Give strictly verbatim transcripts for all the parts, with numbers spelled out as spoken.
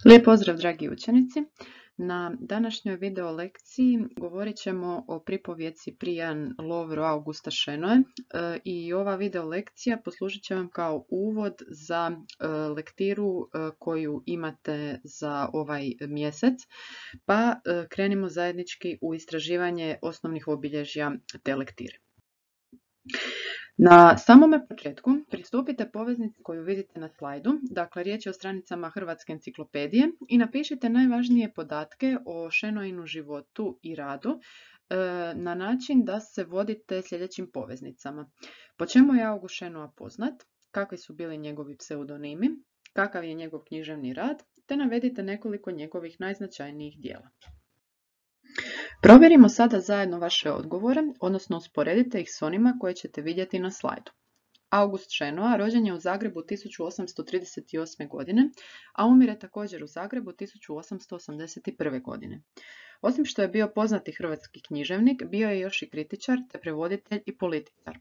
Lijep pozdrav, dragi učenici. Na današnjoj video lekciji govorit ćemo o pripovjeci Prijan Lovro Augusta Šenoe i ova video lekcija poslužit će vam kao uvod za lektiru koju imate za ovaj mjesec, pa krenimo zajednički u istraživanje osnovnih obilježja te lektire. Na samome početku pristupite poveznici koju vidite na slajdu, dakle riječ je o stranicama Hrvatske enciklopedije, i napišite najvažnije podatke o Šenoinu životu i radu na način da se vodite sljedećim poveznicama. Po čemu je August Šenoa poznat, kakvi su bili njegovi pseudonimi, kakav je njegov književni rad, te navedite nekoliko njegovih najznačajnijih djela. Provjerimo sada zajedno vaše odgovore, odnosno usporedite ih s onima koje ćete vidjeti na slajdu. August Šenoa rođen je u Zagrebu tisuću osamsto trideset osme. godine, a umire također u Zagrebu tisuću osamsto osamdeset prve. godine. Osim što je bio poznati hrvatski književnik, bio je još i kritičar, te prevoditelj i političar.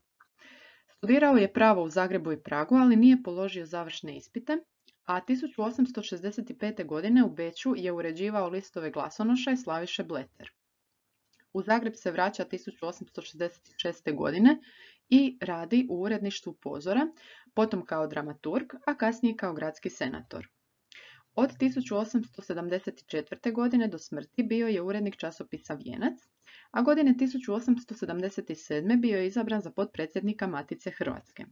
Studirao je pravo u Zagrebu i Pragu, ali nije položio završne ispite, a tisuću osamsto šezdeset pete. godine u Beču je uređivao listove glasonoša i Slaviše Bleter. U Zagreb se vraća tisuću osamsto šezdeset šeste. godine i radi u uredništvu Pozora, potom kao dramaturg, a kasnije kao gradski senator. Od tisuću osamsto sedamdeset četvrte. godine do smrti bio je urednik časopisa Vijenac, a godine tisuću osamsto sedamdeset sedme. bio je izabran za potpredsjednika Matice Hrvatske.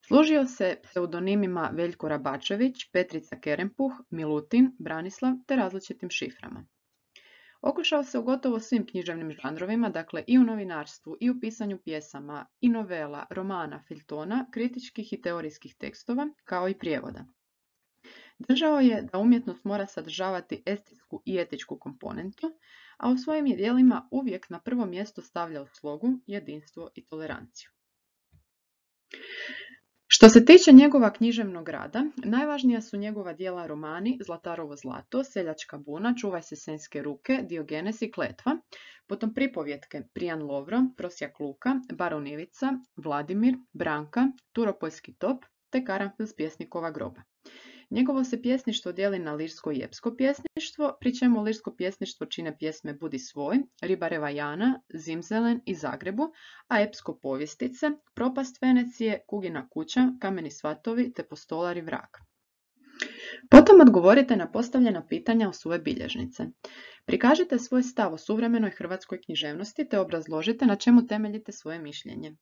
Služio se pseudonimima Veljko Rabačević, Petrica Kerempuh, Milutin, Branislav te različitim šiframa. Okušao se u gotovo svim književnim žanrovima, dakle i u novinarstvu, i u pisanju pjesama, i novela, romana, feljtona, kritičkih i teorijskih tekstova, kao i prijevoda. Držao je da umjetnost mora sadržavati estetsku i etičku komponentu, a u svojim je djelima uvijek na prvo mjesto stavljao slogu, jedinstvo i toleranciju. Što se tiče njegova književnog rada, najvažnija su njegova djela romani Zlatarovo zlato, Seljačka buna, Čuvaj se senjske ruke, Diogenes i Kletva, potom pripovjetke Prijan Lovro, Prosjak Luka, Baron Ivica, Vladimir, Branka, Turopoljski top te Karanfil s pjesnikova groba. Njegovo se pjesništvo dijeli na lirsko i epsko pjesništvo, pri čemu lirsko pjesništvo čine pjesme Budi svoj, Ribareva Jana, Zimzelen i Zagrebu, a epsko povjestice, Propast Venecije, Kugina kuća, Kameni svatovi te Postolar i vrag. Potom odgovorite na postavljena pitanja o svoje bilježnice. Prikažite svoj stav o suvremenoj hrvatskoj književnosti te obrazložite na čemu temeljite svoje mišljenje.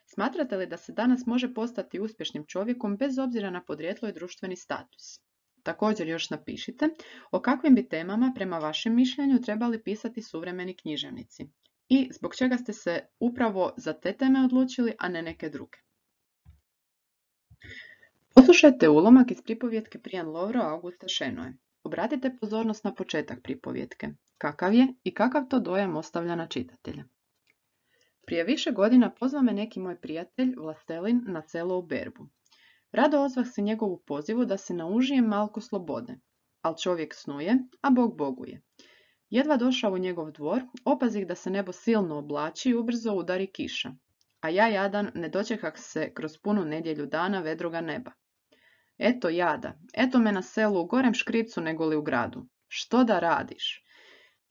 Smatrate li da se danas može postati uspješnim čovjekom bez obzira na podrijetlo i društveni status? Također još napišite o kakvim bi temama prema vašem mišljenju trebali pisati suvremeni književnici i zbog čega ste se upravo za te teme odlučili, a ne neke druge. Poslušajte ulomak iz pripovjetke Prijan Lovro Augusta Šenoe. Obratite pozornost na početak pripovjetke. Kakav je i kakav to dojam ostavlja na čitatelja. Prije više godina pozvao me neki moj prijatelj, Vlastelin, na selo u berbu. Rado ozvah se njegovu pozivu da se naužijem malko slobode, al čovjek snuje, a Bog boguje. Jedva došao u njegov dvor, opazih da se nebo silno oblači i ubrzo udari kiša, a ja jadan ne dočekah se kroz punu nedjelju dana vedroga neba. Eto jada, eto me na selu u gorem škripcu nego li u gradu. Što da radiš?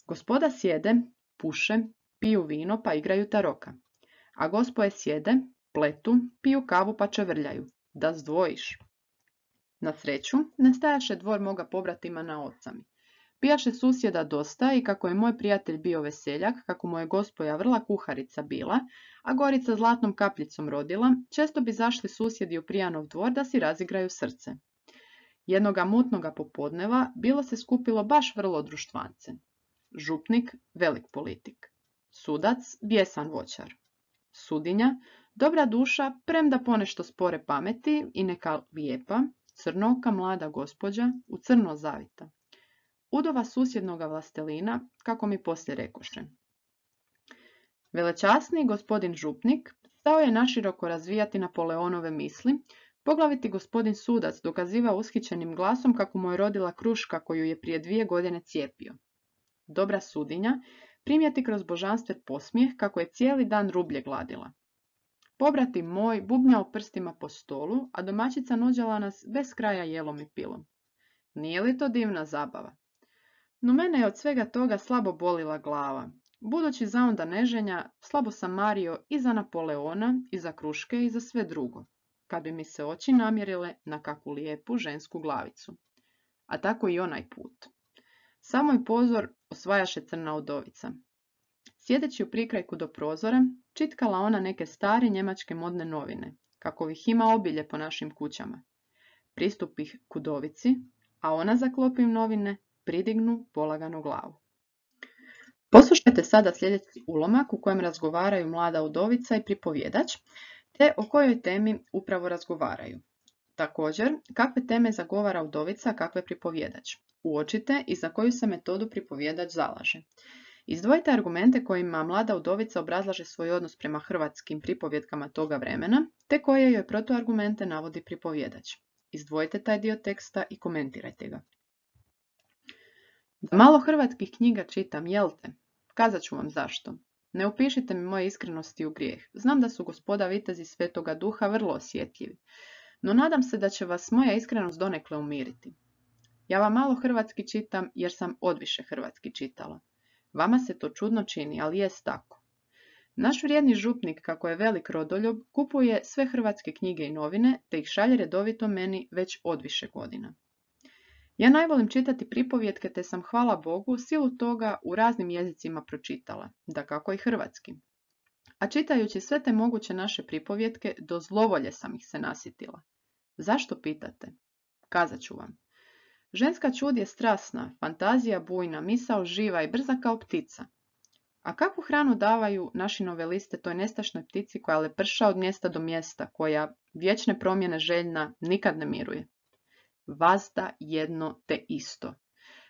Gospoda sjede, puše, piju vino pa igraju taroka, a gospoje sjede, pletu, piju kavu pa čevrljaju. Da zdvojiš. Na sreću, ne stajaše dvor moga pobratima na ocami. Pijaše susjeda dosta i kako je moj prijatelj bio veseljak, kako mu je gospoja vrla kuharica bila, a Gorica zlatnom kapljicom rodila, često bi zašli susjedi u Prijanov dvor da si razigraju srce. Jednoga mutnoga popodneva bilo se skupilo baš vrlo društvance. Župnik, velik politik. Sudac, bijesan voćar. Sudinja, dobra duša, premda ponešto spore pameti i neka lijepa, crnoka mlada gospođa, u crno zavita. Udova susjednoga Vlastelina, kako mi poslije rekoše. Velečasni gospodin župnik stao je naširoko razvijati Napoleonove misli, poglaviti gospodin sudac dokaziva ushićenim glasom kako mu je rodila kruška koju je prije dvije godine cijepio. Dobra sudinja primijeti kroz božanstven posmijeh kako je cijeli dan rublje gladila. Pobrati moj bubnjao prstima po stolu, a domaćica nuđala nas bez kraja jelom i pilom. Nije li to divna zabava? No mene je od svega toga slabo bolila glava. Budući za onda neženja, slabo sam mario i za Napoleona, i za kruške, i za sve drugo, kad bi mi se oči namjerile na kakvu lijepu žensku glavicu. A tako i onaj put. Samo i pozor osvajaše crna udovica. Sjedeći u prikrajku do prozora, čitkala ona neke stare njemačke modne novine, kakovih ima obilje po našim kućama. Pristupih k udovici, a ona zaklopim novine, pridignu polaganu glavu. Poslušajte sada sljedeći ulomak u kojem razgovaraju mlada udovica i pripovjedač, te o kojoj temi upravo razgovaraju. Također, kakve teme zagovara udovica, a kakve pripovjedač. Uočite i za koju se metodu pripovjedač zalaže. Izdvojite argumente kojima mlada udovica obrazlaže svoj odnos prema hrvatskim pripovjetkama toga vremena, te koje joj protuargumente navodi pripovjedač. Izdvojite taj dio teksta i komentirajte ga. Da malo hrvatskih knjiga čitam, jel te? Kazat ću vam zašto. Ne upišite mi moje iskrenosti u grijeh. Znam da su gospoda vitezi Svetoga Duha vrlo osjetljivi, no nadam se da će vas moja iskrenost donekle umiriti. Ja vam malo hrvatski čitam jer sam odviše hrvatski čitala. Vama se to čudno čini, ali jest tako. Naš vrijedni župnik, kako je velik rodoljub, kupuje sve hrvatske knjige i novine, te ih šalje redovito meni već odviše godina. Ja najvolim čitati pripovjetke, te sam, hvala Bogu, silu toga u raznim jezicima pročitala, dakako i hrvatski. A čitajući sve te moguće naše pripovjetke, do zlovolje sam ih se nasitila. Zašto pitate? Kazat ću vam. Ženska čud je strasna, fantazija bujna, misao živa i brza kao ptica. A kakvu hranu davaju naši noveliste toj nestašnoj ptici koja leprša od mjesta do mjesta, koja vječne promjene željna nikad ne miruje? Vazda jedno te isto.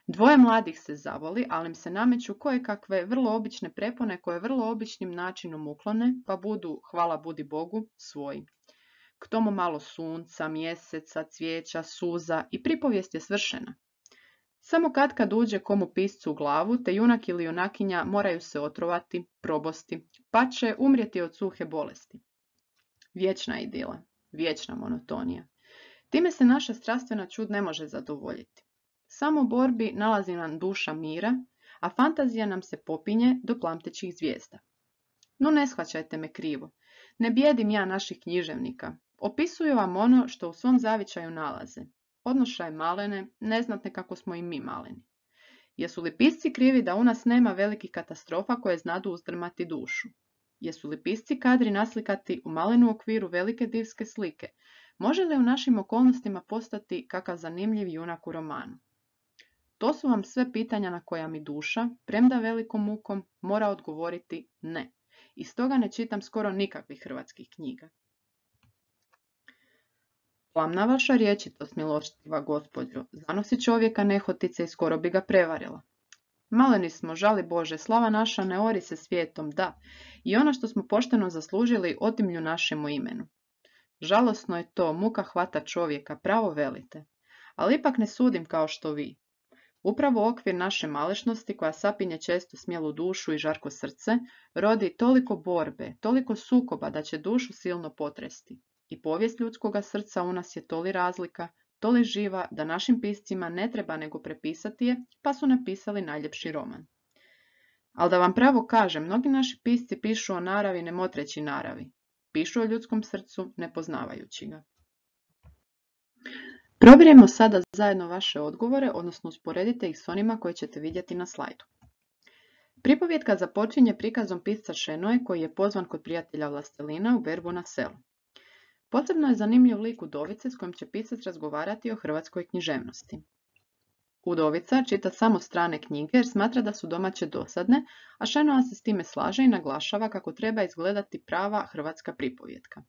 Dvoje mladih se zavoli, ali im se nameću koje kakve vrlo obične prepone koje vrlo običnim načinom uklone, pa budu, hvala budi Bogu, svoji. K tomu malo sunca, mjeseca, cvijeća, suza i pripovijest je svršena. Samo kad kad uđe komu piscu u glavu, te junak ili junakinja moraju se otrovati, probosti, pa će umrijeti od suhe bolesti. Vječna idila, vječna monotonija. Time se naša strastvena čud ne može zadovoljiti. Samo u borbi nalazi nam duša mira, a fantazija nam se popinje do plamtećih zvijezda. No ne shvaćajte me krivo. Ne bijedim ja naših književnika. Opisuju vam ono što u svom zavičaju nalaze. Odnošaj malene, neznatne kako smo i mi maleni. Jesu li pisci krivi da u nas nema velikih katastrofa koje znadu uzdrmati dušu? Jesu li pisci kadri naslikati u malenu okviru velike divske slike? Može li u našim okolnostima postati kakav zanimljiv junak u romanu? To su vam sve pitanja na koja mi duša, premda velikom mukom, mora odgovoriti ne. I stoga ne čitam skoro nikakvih hrvatskih knjiga. Plamna vaša rječitost, milostiva gospođo, zanosi čovjeka nehotice i skoro bi ga prevarila. Maleni smo, žali Bože, slava naša ne ori se svijetom, da, i ono što smo pošteno zaslužili otimlju našemu imenu. Žalosno je to, muka hvata čovjeka, pravo velite, ali ipak ne sudim kao što vi. Upravo okvir naše malešnosti, koja sapinje često smjelu dušu i žarko srce, rodi toliko borbe, toliko sukoba da će dušu silno potresti. I povijest ljudskoga srca u nas je toli razlika, toli živa da našim piscima ne treba nego prepisati je, pa su napisali najljepši roman. Ali da vam pravo kažem, mnogi naši pisci pišu o naravi ne motreći naravi. Pišu o ljudskom srcu ne poznavajući ga. Provjerimo sada zajedno vaše odgovore, odnosno usporedite ih s onima koje ćete vidjeti na slajdu. Pripovjetka započinje prikazom pisca Šenoje koji je pozvan kod prijatelja Vlastelina u berbu na selu. Posebno je zanimljiv lik udovice s kojim će pisac razgovarati o hrvatskoj književnosti. Udovica čita samo strane knjige jer smatra da su domaće dosadne, a Šenoa se s time slaže i naglašava kako treba izgledati prava hrvatska pripovjetka.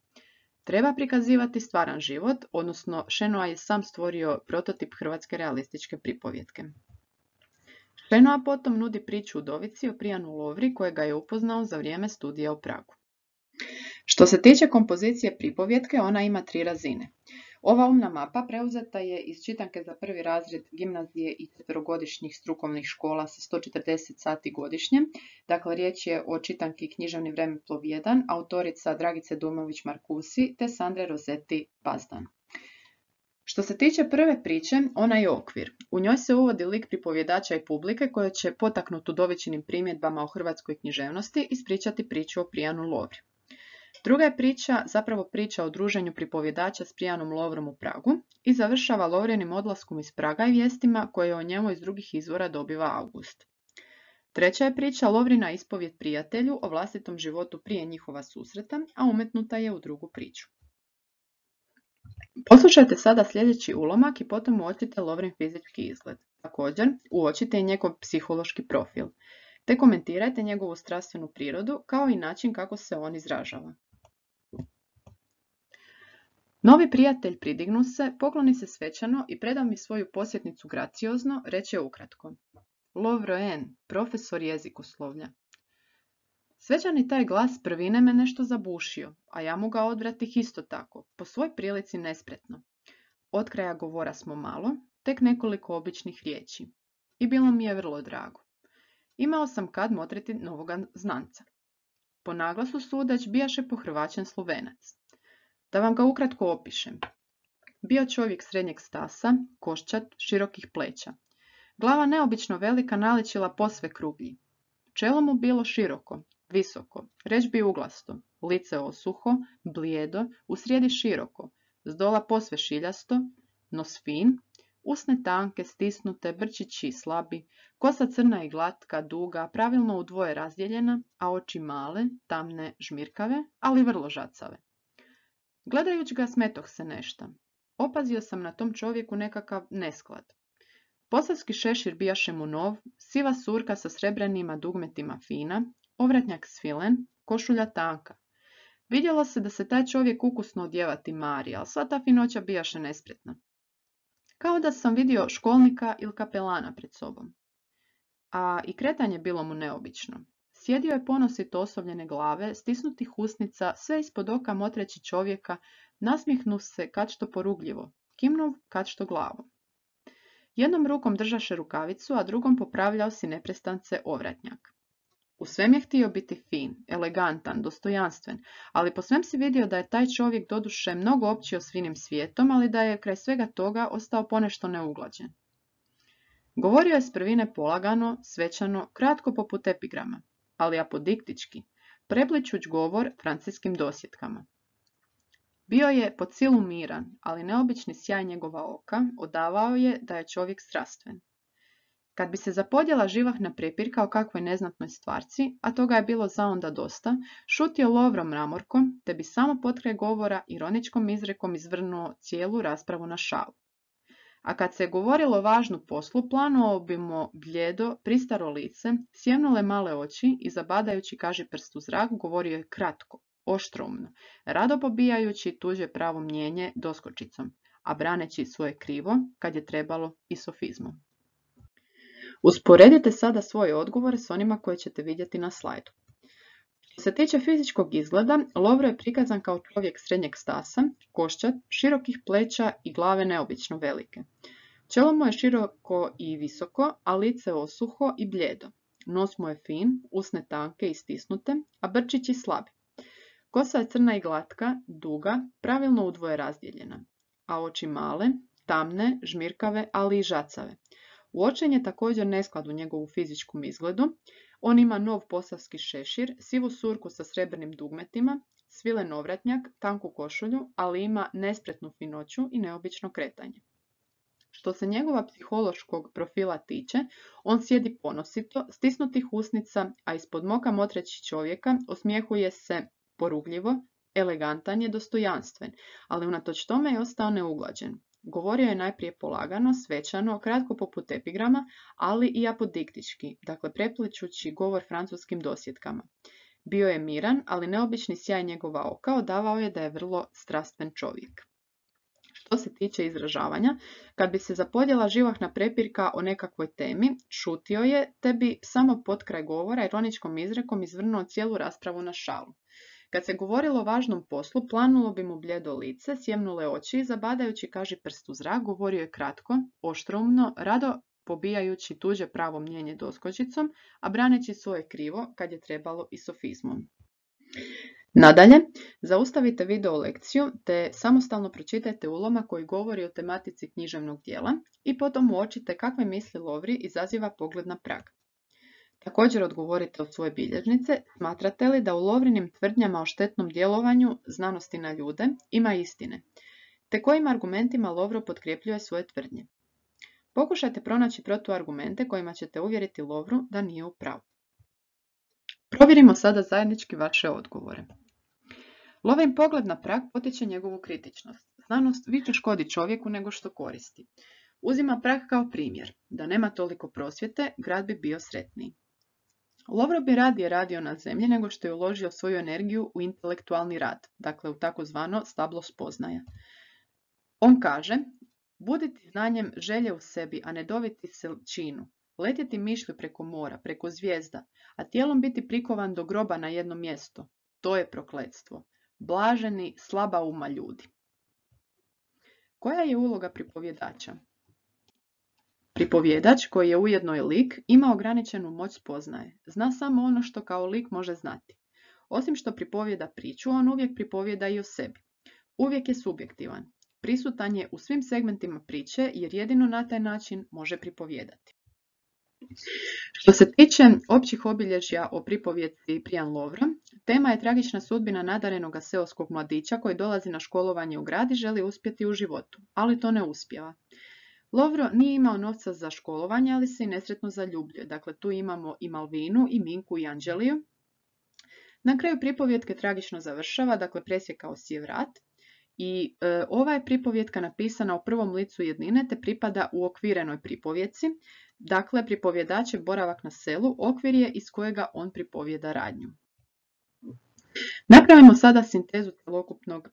Treba prikazivati stvaran život, odnosno Šenoa je sam stvorio prototip hrvatske realističke pripovjetke. Šenoa potom nudi priču udovici o Prijanu Lovri kojega je upoznao za vrijeme studija u Pragu. Što se tiče kompozicije pripovjetke, ona ima tri razine. Ova umna mapa preuzeta je iz čitanke za prvi razred gimnazije i četverogodišnjih strukovnih škola sa sto četrdeset sati godišnje. Dakle, riječ je o čitanki Književni vremeplov jedan, autorica Dragice Dujmović Markusi te Sandre Rozetti Bazdan. Što se tiče prve priče, ona je okvir. U njoj se uvodi lik pripovjedača i publike koje će potaknut udovičinim primjedbama o hrvatskoj književnosti ispričati priču o Prijanu Lovri. Druga je priča zapravo priča o druženju pripovjedača s Prijanom Lovrom u Pragu i završava Lovrinim odlaskom iz Praga i vijestima koje o njemu iz drugih izvora dobiva August. Treća je priča Lovrina ispovjed prijatelju o vlastitom životu prije njihova susreta, a umetnuta je u drugu priču. Poslušajte sada sljedeći ulomak i potom uočite Lovrin fizički izgled. Također, uočite i njegov psihološki profil, te komentirajte njegovu strastvenu prirodu kao i način kako se on izražava. Novi prijatelj pridignu se, pokloni se svečano i preda mi svoju posjetnicu graciozno, reče ukratko. Lovro N, profesor jezikoslovlja. Svečani taj glas prvine me nešto zabušio, a ja mu ga odvratih isto tako, po svoj prilici nespretno. Od kraja govora smo malo, tek nekoliko običnih riječi. I bilo mi je vrlo drago. Imao sam kad motriti novoga znanca. Po naglasu sudeć bijaše pohrvaćen Slovenac. Da vam ga ukratko opišem. Bio čovjek srednjeg stasa, koščat, širokih pleća. Glava neobično velika naličila posve kruglji. Čelo mu bilo široko, visoko, reč bi uglasto, lice osuho, blijedo, usrijedi široko, zdola posve šiljasto, nos fin, usne tanke, stisnute, brčići slabi, kosa crna i glatka, duga, pravilno u dvoje razdjeljena, a oči male, tamne, žmirkave, ali vrlo žacave. Gledajući ga smetoh se nešta. Opazio sam na tom čovjeku nekakav nesklad. Posavski šešir bijaše mu nov, siva surka sa srebrenima dugmetima fina, ovratnjak svilen, košulja tanka. Vidjelo se da se taj čovjek ukusno odjevati mari, ali sva ta finoća bijaše nespretna. Kao da sam vidio školnika ili kapelana pred sobom. A i kretanje bilo mu neobično. Sjedio je ponosito osovljene glave, stisnutih usnica, sve ispod oka motreći čovjeka, nasmihnuv se kad što porugljivo, kimnuv kad što glavom. Jednom rukom držaše rukavicu, a drugom popravljao si neprestance ovratnjak. U svem je htio biti fin, elegantan, dostojanstven, ali po svem si vidio da je taj čovjek doduše mnogo općio svinim svijetom, ali da je kraj svega toga ostao ponešto neuglađen. Govorio je s prvine polagano, svečano, kratko poput epigrama, ali apodiktički, prepličuć govor franciskim dosjetkama. Bio je po silu miran, ali neobični sjaj njegova oka odavao je da je čovjek strastven. Kad bi se zapodjela živahna prepirka o kakvoj neznatnoj stvarci, a toga je bilo zaonda dosta, šutio Lovro mramorkom, te bi samo potkraj govora ironičkom izrekom izvrnuo cijelu raspravu na šalu. A kad se je govorilo o važnu poslu, planuo bi mu bljedo, pristaro lice, sjemnule male oči i zabadajući kaži prst u zrak, govorio je kratko, oštroumno, rado pobijajući tuđe pravo mnjenje doskočicom, a braneći svoje krivo, kad je trebalo, i sofizmom. Usporedite sada svoje odgovore s onima koje ćete vidjeti na slajdu. Što se tiče fizičkog izgleda, Lovro je prikazan kao čovjek srednjeg stasa, koščat, širokih pleća i glave neobično velike. Čelo mu je široko i visoko, a lice osuho i bljedo. Nos mu je fin, usne tanke i stisnute, a brčići slabi. Kosa je crna i glatka, duga, pravilno udvoje razdjeljena, a oči male, tamne, žmirkave, ali i žacave. Uočen je također nesklad u njegovu fizičkom izgledu. On ima nov posavski šešir, sivu surku sa srebrnim dugmetima, svilen ovratnjak, tanku košulju, ali ima nespretnu finoću i neobično kretanje. Što se njegova psihološkog profila tiče, on sjedi ponosito, stisnutih usnica, a ispod moka motreći čovjeka osmijehuje se porugljivo, elegantan je, dostojanstven, ali unatoč tome je ostao neuglađen. Govorio je najprije polagano, svečano, kratko poput epigrama, ali i apodiktički, dakle prepličući govor francuskim dosjetkama. Bio je miran, ali neobični sjaj njegova oka odavao je da je vrlo strastven čovjek. Što se tiče izražavanja, kad bi se zapodjela živahna prepirka o nekakvoj temi, šutio je, te bi samo potkraj govora ironičkom izrekom izvrnuo cijelu raspravu na šalu. Kad se govorilo o važnom poslu, planulo bi mu bljedo lice, sjemnule oči i zabadajući kaži prst u zrak, govorio je kratko, oštroumno, rado pobijajući tuđe pravo mnjenje doskočicom, a braneći svoje krivo kad je trebalo i sofizmom. Nadalje, zaustavite video lekciju te samostalno pročitajte ulomak koji govori o tematici književnog dijela i potom uočite kakve misli Lovri izaziva pogled na prag. Također odgovorite od svoje bilježnice, smatrate li da u Lovrinim tvrdnjama o štetnom djelovanju znanosti na ljude ima istine, te kojim argumentima Lovro potkrepljuje svoje tvrdnje. Pokušajte pronaći protuargumente kojima ćete uvjeriti Lovru da nije u pravu. Provjerimo sada zajednički vaše odgovore. Lovrin pogled na prag potiče njegovu kritičnost. Znanost više škodi čovjeku nego što koristi. Uzima prag kao primjer. Da nema toliko prosvjete, grad bi bio sretniji. Lovro bi radije radio na zemlji nego što je uložio svoju energiju u intelektualni rad, dakle u takozvano stablo spoznaja. On kaže, buditi znanjem želje u sebi, a ne doviti se činu, letjeti mišlju preko mora, preko zvijezda, a tijelom biti prikovan do groba na jedno mjesto. To je prokletstvo. Blaženi, slaba uma ljudi. Koja je uloga pripovjedača? Pripovjedač, koji je ujedno i lik, ima ograničenu moć spoznaje. Zna samo ono što kao lik može znati. Osim što pripovjeda priču, on uvijek pripovjeda i o sebi. Uvijek je subjektivan. Prisutan je u svim segmentima priče jer jedino na taj način može pripovjedati. Što se tiče općih obilježja o pripovjedci Prijan Lovra, tema je tragična sudbina nadarenoga seoskog mladića koji dolazi na školovanje u grad i želi uspjeti u životu, ali to ne uspijeva. Lovro nije imao novca za školovanje, ali se i nesretno zaljubljuje. Dakle, tu imamo i Malvinu, i Minku, i Anđeliju. Na kraju pripovjetke tragično završava, dakle presjekao si je vrat. I e, ova je pripovjetka napisana u prvom licu jednine te pripada u okvirenoj pripovjetci. Dakle, pripovjedačev boravak na selu okvir je iz kojega on pripovjeda radnju. Napravimo sada sintezu celokupnog e,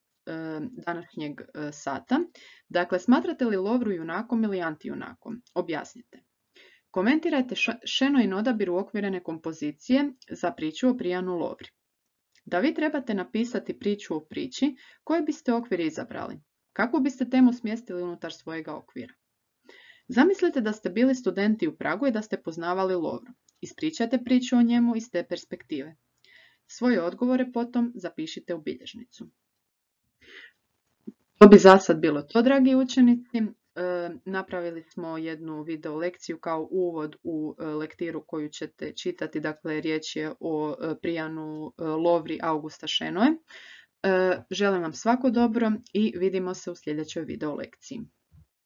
današnjeg e, sata. Dakle, smatrate li Lovru junakom ili antijunakom? Objasnite. Komentirajte Šenoin odabir uokvirene kompozicije za priču o Prijanu Lovri. Da vi trebate napisati priču o priči, koji biste okvir izabrali? Kakvu biste temu smjestili unutar svojega okvira? Zamislite da ste bili studenti u Pragu i da ste poznavali Lovru. Ispričajte priču o njemu iz te perspektive. Svoje odgovore potom zapišite u bilježnicu. To bi za sad bilo to, dragi učenici. E, napravili smo jednu video lekciju kao uvod u e, lektiru koju ćete čitati. Dakle, riječ je o e, Prijanu e, Lovri Augusta Šenoe. E, želim vam svako dobro i vidimo se u sljedećoj video lekciji.